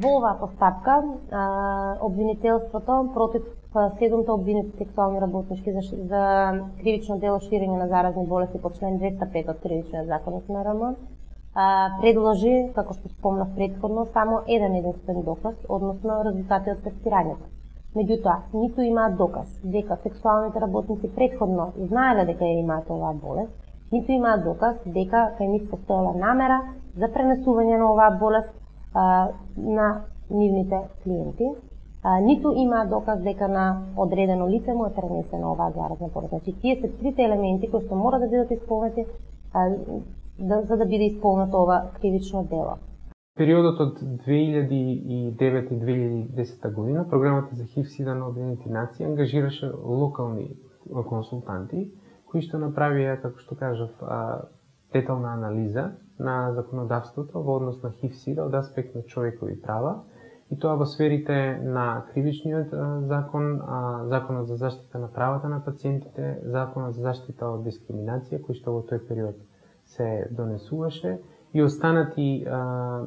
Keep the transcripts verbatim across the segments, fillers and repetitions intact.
Во оваа постапка обвинителството против седумте обвинети сексуални работнички за, за кривично дело ширење на заразни болести по член двеста пет од Кривичниот законник на РМ предложи, како што спомнав претходно, само еден единствен доказ, односно резултати од тестирањето. Меѓутоа, ниту имаат доказ дека сексуалните работници претходно знаеле дека ја имаат оваа болест, ниту имаат доказ дека кај нив постоела намера за пренесување на оваа болест а, на нивните клиенти, а, ниту имаат доказ дека на одредено лице му е пренесена оваа заразна болест. Значи, тие се трите елементи кои што мора да бидат исполнети а, да, за да биде исполнето ова кривично дело. Периодот од две илјади и девета и две илјади и десета година програмата за ХИВ-СИДА на Обединените нации ангажираше локални консултанти кои што направија, како што кажав, детална анализа на законодавството во однос на ХИВ-СИДА од аспект на човекови права, и тоа во сферите на кривичниот закон, законот за заштита на правата на пациентите, законот за заштита од дискриминација, кој што во тој период се донесуваше, и останати а,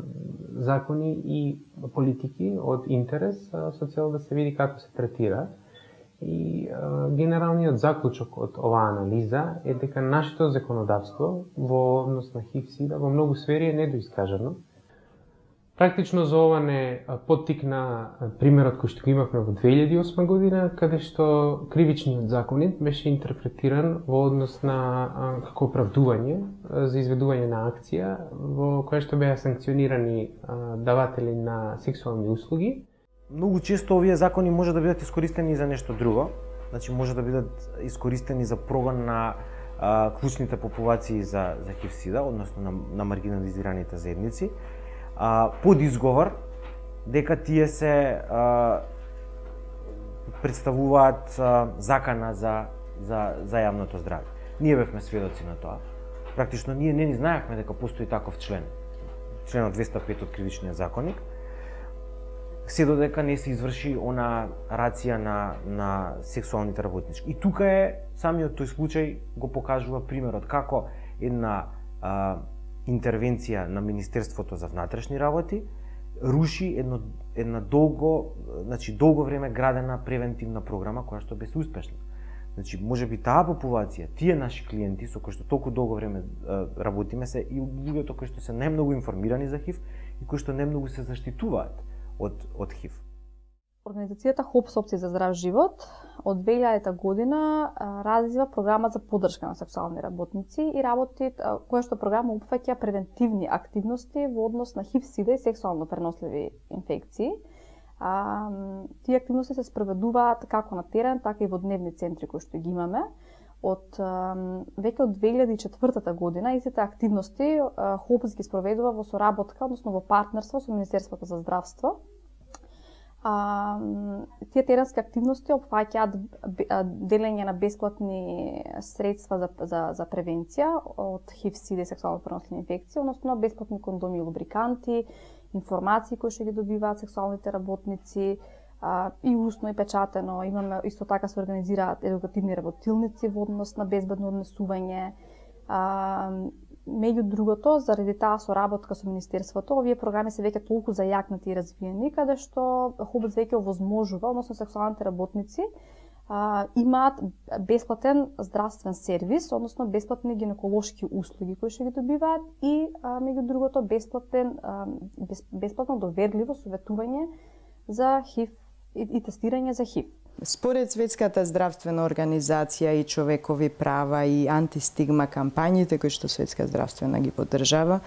закони и политики од интерес а, со цел да се види како се третира. И а, генералниот заклучок од оваа анализа е дека нашето законодавство во однос на ХИВ-СИДА во многу сфери е недоискажано. Практично за ова не поттикна примерот кој што го имавме во две илјади и осма година, каде што кривичниот законник беше интерпретиран во однос на како оправдување за изведување на акција во која што беа санкционирани даватели на сексуални услуги. Многу често овие закони може да бидат искористени за нешто друго, значи може да бидат искористени за прогон на а, клучните популации за за ХИВ-СИДА, односно на, на маргинализираните заедници, а, под изговор дека тие се а, представуваат а, закана за за за јавното здравје. Ние бевме сведоци на тоа. Практично ние не ни знаевме дека постои таков член, членот двеста пет од Кривичниот законник, се додека не се изврши она рација на на сексуалните работнички. И тука е самиот тој случај го покажува примерот како една а, интервенција на Министерството за внатрешни работи руши едно една долго, значи долго време градена превентивна програма која што беше успешна. Значи можеби таа популација, тие наши клиенти со кои што толку долго време а, работиме се и луѓето кои што се најмногу информирани за ХИВ и кои што најмногу се заштитуваат од од ХИВ. Организацијата ХОПС Опции за здрав живот од две илјадета година развива програма за поддршка на сексуални работници и работи која што програма опфаќа превентивни активности во однос на ХИВ-СИДА и сексуално преносливи инфекции. А, тие активности се спроведуваат како на терен, така и во дневни центри кои што ги имаме. Од веќе од две илјади и четвртата година истите активности ХОПС ги спроведува во соработка, односно во партнерство со Министерството за здравство. А, тие теренски активности опфаќаат делење на бесплатни средства за, за, за превенција од ХИВ-СИДА и сексуално преносливи инфекции, односно бесплатни кондоми и лубриканти, информации кои што ги добиваат сексуалните работници, а, и усно и печатено. Имаме исто така се организираат едукативни работилници во однос на безбедно однесување. А, меѓу другото, заради таа соработка со Министерството, овие програми се веќе толку зајакнати и развиени, каде што ХОПС веќе овозможува, односно сексуалните работници, а, имаат бесплатен здравствен сервис, односно бесплатни гинеколошки услуги кои што ги добиваат и а, меѓу другото бесплатен а, бес, бесплатно доверливо советување за ХИВ и, и тестирање за ХИВ. Според Светската здравствена организација и човекови права и антистигма кампањите кои што Светска здравствена ги поддржава,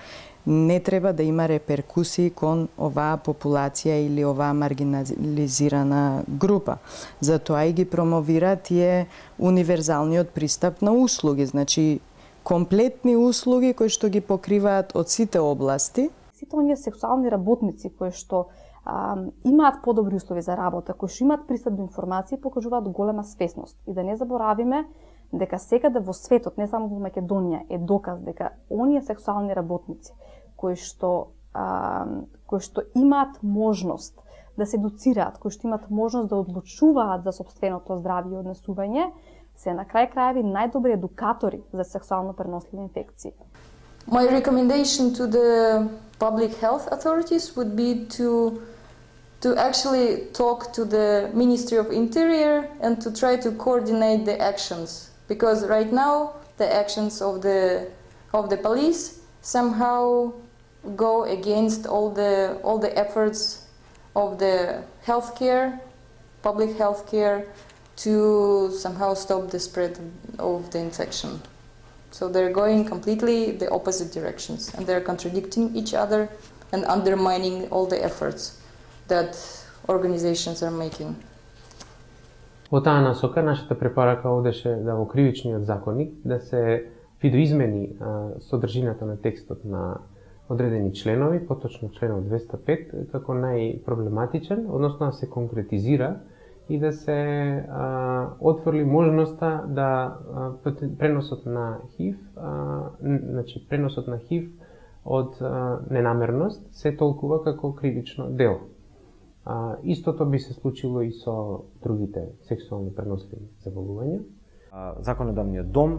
не треба да има реперкусии кон оваа популација или оваа маргинализирана група. Затоа и ги промовира тие универзалниот пристап на услуги, значи комплетни услуги кои што ги покриваат од сите области. Сите оние сексуални работници кои што а, имаат подобри услови за работа, кои што имаат пристап до информации, покажуваат голема свесност. И да не заборавиме дека секаде во светот, не само во Македонија, е доказ дека оние сексуални работници кои што а, кои што имаат можност да се едуцираат, кои што имаат можност да одлучуваат за сопственото здравје и однесување, се на крај крајеви најдобри едукатори за сексуално преносливи инфекции. My recommendation to the public health authorities would be to to actually talk to the Ministry of Interior and to try to coordinate the actions, because right now the actions of the of the police somehow go against all the all the efforts of the healthcare, public healthcare, to somehow stop the spread of the infection. So they're going completely the opposite directions, and they're contradicting each other and undermining all the efforts that organizations are making. Во таа насока, нашата препорака одеше да во кривичниот законник да се видоизмени а, содржината на текстот на одредени членови, поточно членот двеста пет, како најпроблематичен, односно да се конкретизира и да се а, отворли можноста да а, преносот на ХИВ, а, значи преносот на ХИВ од а, ненамерност се толкува како кривично дело. А, истото би се случило и со другите сексуално преносливи заболувања. Законодавниот дом,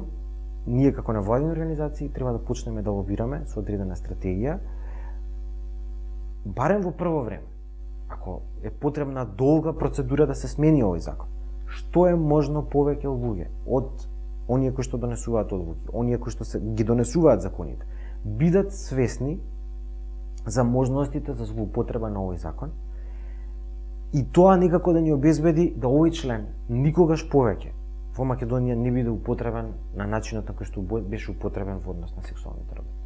ние како невладини организации треба да почнеме да лобираме со одредена стратегија, барем во прво време. Ако е потребна долга процедура да се смени овој закон, што е можно повеќе луѓе од оние кои што донесуваат одлуки, оние кои што се ги донесуваат законите, бидат свесни за можностите за злоупотреба на овој закон, и тоа некако да ни обезбеди да овој член никогаш повеќе во Македонија не биде употребен на начинот на кој што беше употребен во однос на сексуалните работи.